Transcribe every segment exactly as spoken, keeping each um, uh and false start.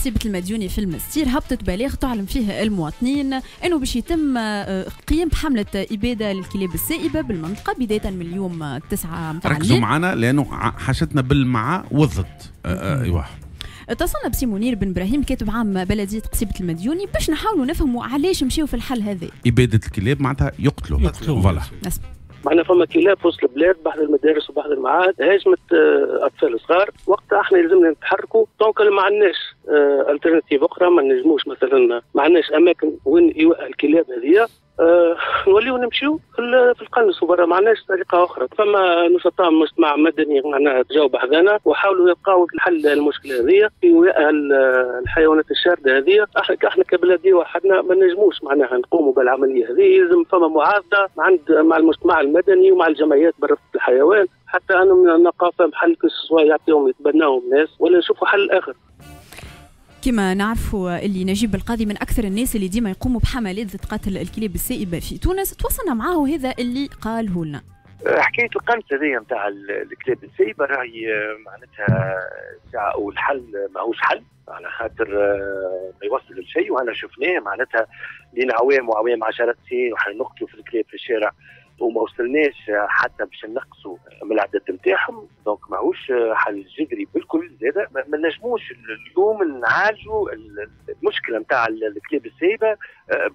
قصيبة المديوني في المستير هبطت بلاغ تعلم فيه المواطنين انه باش يتم قيام بحملة إبادة للكلاب السائبة بالمنطقة بداية من اليوم تسعة. ركزوا معنا لأنه حاجتنا بالمع والضد. ايوه اتصلنا بسي منير بن ابراهيم كاتب عام بلديه قصيبه المديوني باش نحاولوا نفهموا علاش مشيو في الحل هذا. ابادة الكلاب معناتها يقتلوا يقتلوا voilà. معنا فما كلاب في وسط البلاد بحذا المدارس وبحذا المعاهد هاجمت اطفال صغار، وقتها احنا لازمنا نتحركوا، donc ما عندناش alternative اخرى، ما نجموش مثلا ما عندناش اماكن وين ايواء الكلاب هذه، أه نوليو نمشيو في القنص وبرا، ما عندناش طريقه اخرى. فما نشطاء مجتمع مدني معناها تجاوب بحذانا وحاولوا يلقاو الحل للمشكلة هذه في ايواء الحيوانات الشارده هذه. احنا احنا كبلديه وحدنا ما نجموش معناها نقوموا بالعملية هذه، لازم فما معارضة عند مع المجتمع المدني ومع الجمعيات برفق الحيوان حتى انهم نلقاو فهم حل، سواء يعطيهم يتبناهم الناس ولا نشوفوا حل اخر. كما نعرفوا اللي نجيب القاضي من اكثر الناس اللي ديما يقوموا بحملات ضد قتل الكلاب السائبه في تونس، تواصلنا معاه هذا اللي قاله لنا. حكاية القنص هذه نتاع الكلاب السائبه راهي معناتها ساعة او الحل ماهوش حل على خاطر ما يوصل لشيء، وهنا شفناه معناتها لين عوام وعوام عشرات سنين وحنا نقتلوا في الكلاب في الشارع وما وصلناش حتى باش نقصوا من العدد نتاعهم، donc ماهوش حل جذري بالكل. زاد ما نجموش اليوم نعالجوا المشكلة نتاع الكلاب السايبه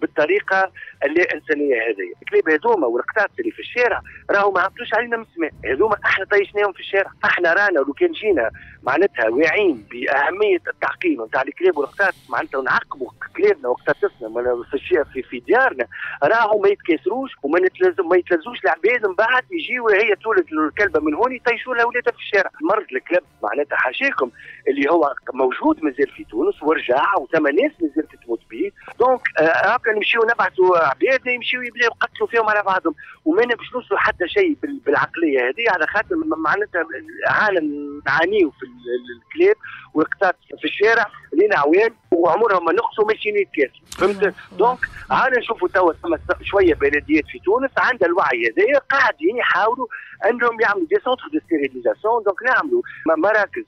بالطريقة اللا انسانيه هذه. الكلاب هذوما والقطاط اللي في الشارع راهو ما هبطوش علينا من السماء، هذوما احنا طيشناهم في الشارع، احنا رانا لو كان جينا معناتها واعيين باهمية التعقيم نتاع الكلاب والقطاط معناتها نعقموا كلابنا وقطاطسنا في في, في ديارنا راهو ما يتكاثروش وما نتلزم ما يتلزوش العباد من بعد يجيو هي تولد الكلبة من هون يطيشوا لها ولادها في الشارع. مرض الكلب معناتها حاشاكم اللي هو موجود مازال في تونس ورجع وثم ناس مازالت تموت به، donc هكا نمشيو نبعثوا عباد يمشيو يبداو يقتلوا فيهم على بعضهم وما باش نوصلوا حتى شيء بالعقليه هذه، على خاطر معناتها عالم نعانيو في الكلاب والقطاط في الشارع لينا عوام وعمرهم ما نقصوا ماشيين يتكاثروا، فهمت؟ donc عاد نشوفوا توا ثم شوية بلديات في تونس عندها الوعي هذايا قاعدين يحاولوا انهم يعملوا des centres de stérilisation، donc نعملوا مراكز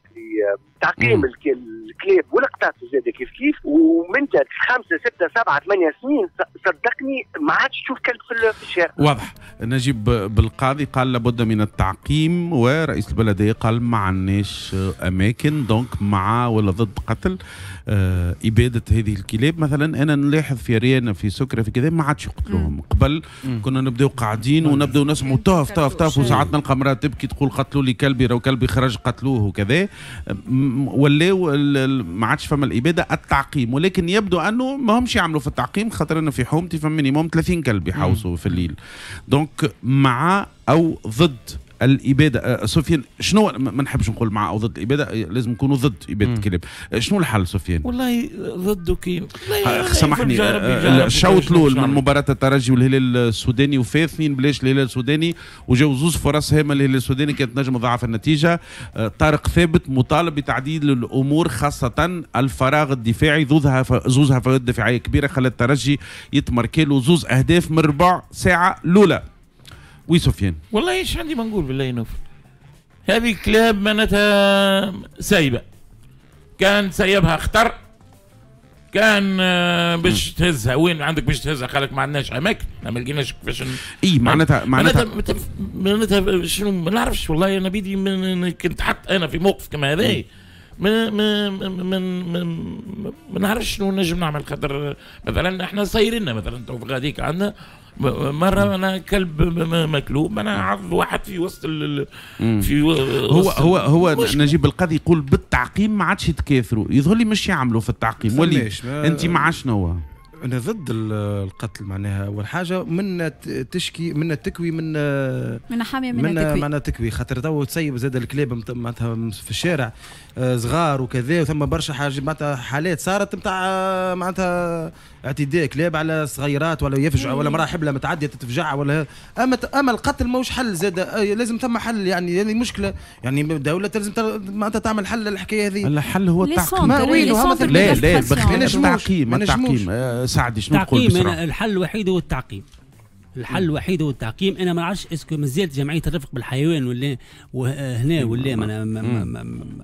لتعقيم الكلاب والقطاط زاد كيف كيف، ومن خمسة ستة سبعة ثمانية سنين صدقني ما عادش تشوف كلب في الشارع. واضح. نجيب بالقاضي قال لابد من التعقيم، ورئيس البلدية قال ما عندناش اماكن، donc مع ولا ضد قتل آه ابادة هذه الكلاب. مثلا انا نلاحظ في ريانا في سكره في كذا ما عادش يقتلوهم، قبل مم. كنا نبداو قاعدين ونبداو نسمعوا طاف طاف طاف وساعات نلقى امراة تبكي تقول قتلوا لي كلبي، راهو كلبي خرج قتلوه وكذا، ولاو ما عادش فما الابادة التعقيم، ولكن يبدو انه ما همش يعملوا في التعقيم، خاطر انا في حومتي فما minimum ثلاثين كلب يحوسوا في الليل. donc مع او ضد الابادة سفيان، شنو ما نحبش نقول مع او ضد الابادة، لازم نكونوا ضد ابادة الكلاب. شنو الحل سفيان؟ والله ضده كي سامحني، الشوط الاول من مباراة الترجي والهلال السوداني وفات اثنين بلاش الهلال السوداني وجاو زوز فرص هامة للهلال السوداني كانت نجم تضاعف النتيجة. طارق ثابت مطالب بتعديل الامور خاصة الفراغ الدفاعي، زوز هفوات دفاعية كبيرة خلت الترجي يتمركي له زوز اهداف من ربع ساعة الاولى. oui سفيان، والله ايش عندي ما نقول بالله نوف، هذه كلاب معناتها سايبه، كان سايبها خطر، كان باش تهزها وين عندك باش تهزها؟ قالك ما عندناش اماكن، ما لقيناش كيفاش. اي معناتها معناتها معناتها شنو ما نعرفش والله. انا بيدي من كنت حط انا في موقف كما هذا ما ما ما ما نعرفش شنو نجم نعمل، خاطر مثلا احنا صايرين مثلا تو غاديك عندنا مرة انا كلب مكلوب انا عض واحد في وسط ال في هو هو هو نجيب القاضي يقول بالتعقيم ما عادش يتكاثروا، يظهر لي مش يعملوا في التعقيم. ولي انت مع شنو؟ انا ضد القتل معناها. اول حاجة من تشكي من تكوي من من حامية من تكوي معناها تكوي، خاطر تو تسيب زاد الكلاب معناتها في الشارع صغار وكذا، وثم برشا حاجة معناتها حالات صارت نتاع معناتها اعتداء كلاب على صغيرات ولا يفجع ولا مراة حبلة متعدية تتفجع ولا. اما اما القتل ماهوش حل زاد، لازم ثم حل يعني، هذه مشكلة يعني الدولة لازم معناتها تعمل حل للحكايه هذه. الحل هو التعقيم. لا لا التعقيم التعقيم سعدي شنو تقول بسرعة؟ الحل الوحيد هو التعقيم. الحل الوحيد هو التعقيم. انا ما نعرفش est-ce que مازالت جمعية الرفق بالحيوان ولا هنا ولا ما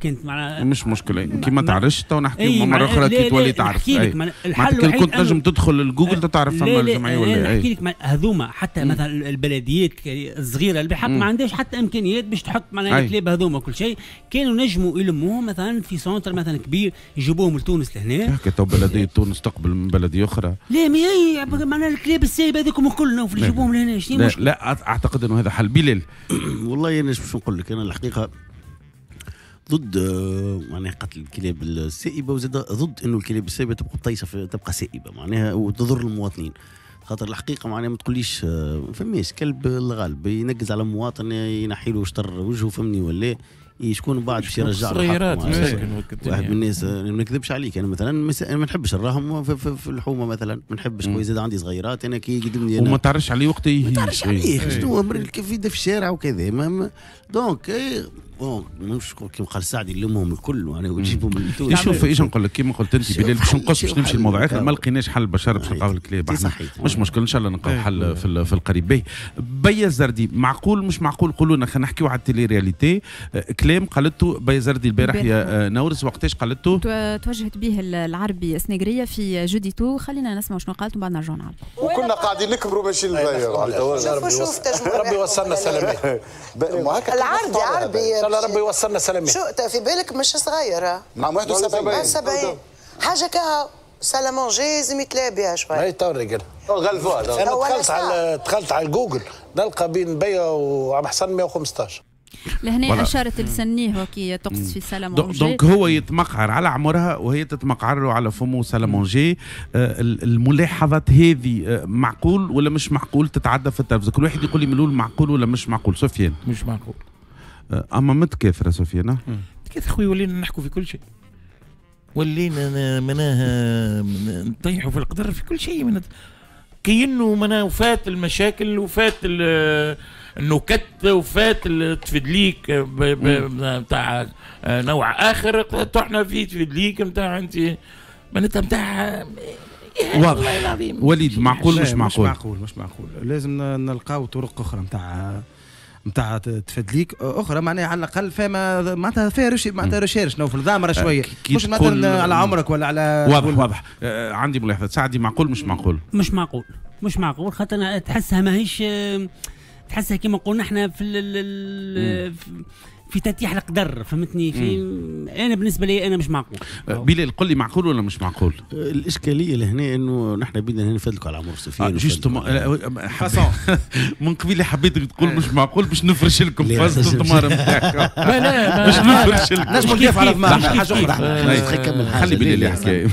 كانت معناها مش مشكلة كي ما تعرفش تو نحكيو مرة اخرى كي تولي تعرف. الحل الوحيد كنت تنجم تدخل لجوجل تعرف فما الجمعية ولا. نحكي لك هذوما حتى مثلا البلديات الصغيرة اللي بحق ما عندهاش حتى امكانيات باش تحط معناها الكلاب هذوما كل شيء، كانوا نجموا يلموهم مثلا في centre مثلا كبير يجيبوهم لتونس لهنا. هكا تو بلديه تونس تقبل من بلديه اخرى. لا ما هي معناها الكلاب السايبه هذوكم الكل يجيبوهم لهنا. شنو لا, لا اعتقد انه هذا حل. بلال والله انا باش نقول لك انا الحقيقة ضد معناها قتل الكلاب السائبه، وزاد ضد انه الكلاب السائبه تبقى طيشه تبقى سائبة معناها وتضر المواطنين. خاطر الحقيقة معناها ما تقوليش ما فماش كلب الغالب ينقز على مواطن ينحي له شطر وجهه فهمني ولا شكون بعد باش يرجع له حقه. واحد من الناس ما نكذبش عليك انا مثلا ما نحبش نراهم في, في, في الحومه مثلا ما نحبش خويا زاد عندي صغيرات انا كي يقدمني وما تعرفش عليه وقت ما تعرفش عليه شنو كيف يبدا في الشارع وكذا. donc bon مش كيما قال سعدي نلمهم الكل معناها ونجيبهم من تونس. شوف ايش نقول لك كيما قلت انت بلال باش نقص باش نمشي لموضوع اخر ما لقيناش حل بشر باش نلقاو الكلاب مش مشكل ان شاء الله نلقاو حل في, في القريب. باهي بيا الزردي معقول مش معقول؟ قولوا لنا خلينا نحكيو على ال télé-réalité. كلام قالته بيا الزردي البارح يا نورس وقتاش قالته؟ توجهت به العربي سنغريه في جوديتو، خلينا نسمع شنو قالت ومن بعد نرجعوا نعلقوا. وكنا قاعدين نكبروا ماشي شوف ربي وصلنا سلامات. العربي عربي ان شاء الله ربي يوصلنا سلامات. شو في بالك مش صغيرة نعم واحد وسبعين سبعين حاجة كها salle à manger لازم يتلاعب بها شوية. اي تو رجال غلفوها. انا دخلت على دخلت على جوجل نلقى بين بيا وعم حسن مية وخمسطاش. لهنا اشارت لسنيه وكي تقصد في salle à manger. donc هو يتمقعر على عمرها وهي تتمقعر له على فمه salle à manger. الملاحظات هذه معقول ولا مش معقول تتعدى في التلفزة؟ كل واحد يقول لي من الاول معقول ولا مش معقول. سفيان مش معقول. اما متكاثره سفيان. متكاثره خويا، ولينا نحكوا في كل شيء، ولينا معناها نطيحوا في القدر في كل شيء. من كأنه معناها وفات المشاكل وفات النكت وفات التفدليك نتاع نوع اخر، طحنا في تفدليك نتاع انت معناتها نتاع واضح. وليد معقول مش معقول؟ مش معقول مش معقول، لازم نلقاو طرق اخرى نتاع نتاع تفدليك اخرى معناها على الاقل فما معناتها فيها recherche معناتها recherche نوفل ضامره شوية، مش مثلا على عمرك ولا على واضح واضح. آه عندي ملاحظة سعدي، معقول مش معقول؟ مش معقول مش معقول، خاطر تحسها ماهيش تحسها كما قلنا احنا في ال في تتيح القدر فهمتني. في انا بالنسبة لي انا مش معقول. بلال قل لي معقول ولا مش معقول؟ الاشكالية لهنا انه نحن بدنا هنا نفدلكوا على عمر سفيان justement من قبيلة حبيتك تقول مش معقول باش نفرش لكم فاز الدمار نتاعكم. لا لا باش نفرش لكم نجموا ندافع على ضمار حاجة اخرى. خلي بلال يحكي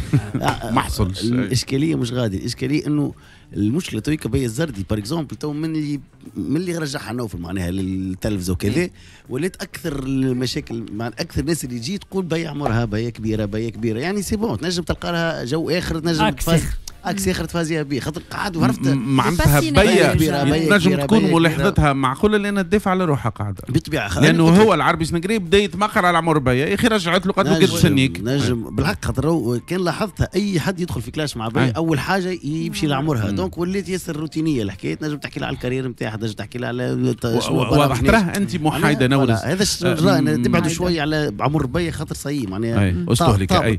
ما حصلش. الاشكالية مش غادي، الاشكالية انه المشكلة تويكا بيا الزردي par exemple تو من اللي من اللي رجعها نوفل معناها للتلفزه وكذا ولات اكثر المشاكل مع اكثر الناس اللي تجي تقول بيا عمرها بيا كبيرة بيا كبيرة يعني c'est bon تنجم تلقى لها جو اخر تنجم تفاز axe اخر تفازيها به خاطر قعد وعرفت معناتها بيا تنجم تكون ملاحظتها معقولة لان تدافع على روحها قاعدة بالطبيعة، لانه هو العربي سنقري بدا يتمقر على عمر بيا يا اخي رجعت له قالت له قد سنيك نجم بالحق خاطر كان لاحظتها اي حد يدخل في clash مع بيا اول حاجة يمشي لعمرها donc ولات ياسر روتينيه الحكاية، تنجم تحكي لها على ال carrière نتاعها تنجم تحكي لها على واضح تراه انت محايدة نورس هذا الراي تبعدوا شوية على عمر بيا خاطر صاي معناها استهلك اي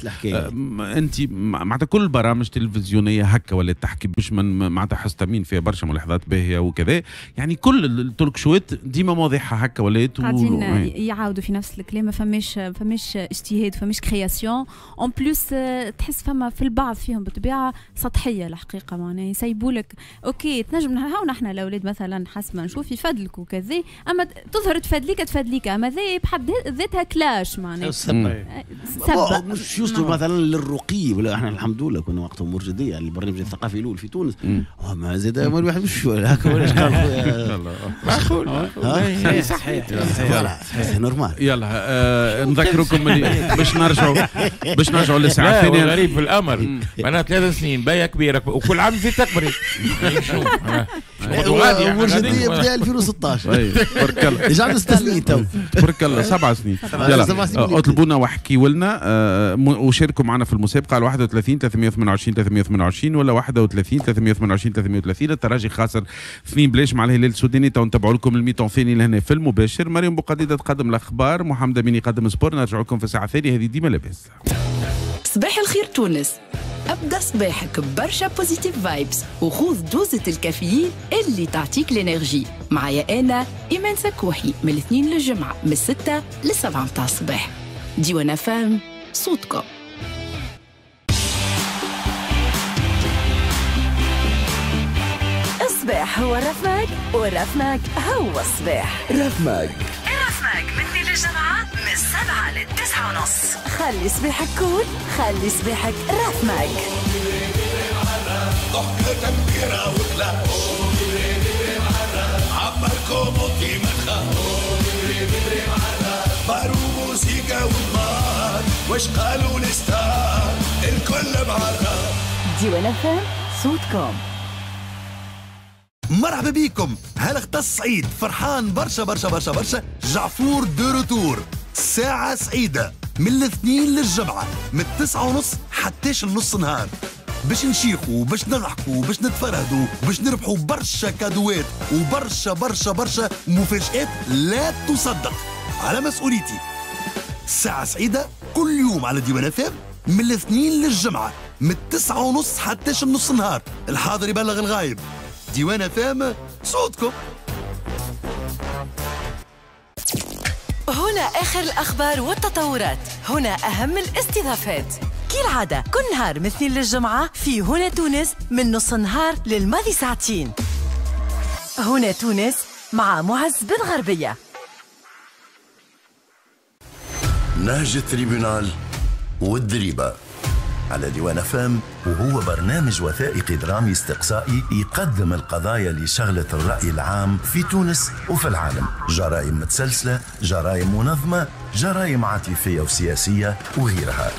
انت معناتها كل البرامج التلفزيونية هكا ولا تحكي باش من معناتها حستمين فيها برشا ملاحظات باهيه وكذا، يعني كل ال talk show ات ديما مواضيعها هكا ولات قاعدين يعاودوا في نفس الكلام، ما فماش فماش اجتهاد فماش création en plus تحس فما في البعض فيهم بالطبيعة سطحية الحقيقة معناها يسيبوا لك OK تنجم هاو نحن الاولاد مثلا حسب ما نشوف يفدلك وكذا، اما تظهر تفدليك تفدليك اما ذي بحد ذاتها clash معناها سبه مش يوصلوا مثلا للرقي ولا احنا الحمد لله كنا وقتها امور جدية البرنامج الثقافي الاول في تونس ما زاد الواحد مش هكا ولا قال معقول صحيح voilà normal. يلا نذكركم باش نرجعوا باش نرجعوا للساعة الثانية. غريب في الامر معناها ثلاث سنين بيا كبيرة وكل عام في تكبري امور جدية بدا ألفين وستطاش تبارك الله déjà عندنا ست سنين تو تبارك الله سبع سنين. يلا اطلبونا واحكيوا لنا وشاركوا معنا في المسابقة على واحد وثلاثين ثلاثمية وثمانية وعشرين ثلاثمية وثمانية وعشرين. وعشرين ولا واحد وثلاثين ثلاثمية وثمانية وعشرين ثلاثمية وثلاثين. الترجي خاسر اثنين بلاش مع الهلال السوداني. تو نتابعوا لكم ال mi-temps الثاني لهنا في المباشر. مريم بوقديدة تقدم الاخبار، محمد امين يقدم sport. نرجع لكم في الساعة الثانية. هذه ديما لاباس. صباح الخير تونس، ابدا صباحك برشا positive vibes وخوذ دوزة الكافيين اللي تعطيك l'énergie. معايا انا ايمان سكوحي من الاثنين للجمعة من الستة للسبعة متاع الصباح. ديوان فام صوتكم. الصباح هو الرفماك والرفماك هو الصباح. رفماك الرفماك من اثنين للجمعة من السبعة للتسعة ونص. خلي صباحك cool، خلي صباحك رفماك. ضحكة كبيرة وكلا عمركم وطي مخا بارو موسيقى ودمار واش قالوا ال stars الكل معرّة. ديوان فام صوتكم. مرحبا بكم. هل سعيد فرحان برشا برشا برشا برشا. جعفور de retour، ساعة سعيدة من الاثنين للجمعة من التسعة ونص حتىش النص نهار، باش نشيخوا باش نضحكوا باش نتفرهدوا باش نربحوا برشا كادوات وبرشا برشا برشا مفاجآت لا تصدق. على مسؤوليتي ساعة سعيدة كل يوم على ديوان اف من الاثنين للجمعة من التسعة ونص حتىش النص نهار. الحاضر يبلغ الغايب. ديوان اف صوتكم. هنا آخر الأخبار والتطورات، هنا أهم الاستضافات. كالعادة كل نهار من اثنين للجمعة في هنا تونس من نص نهار للماضي ساعتين. هنا تونس مع معز بن غربية. نهج ال tribunal والدريبة على ديوان فام، وهو برنامج وثائقي درامي استقصائي يقدم القضايا اللي شغلت الرأي العام في تونس وفي العالم. جرائم متسلسلة، جرائم منظمة، جرائم عاطفية وسياسية وغيرها.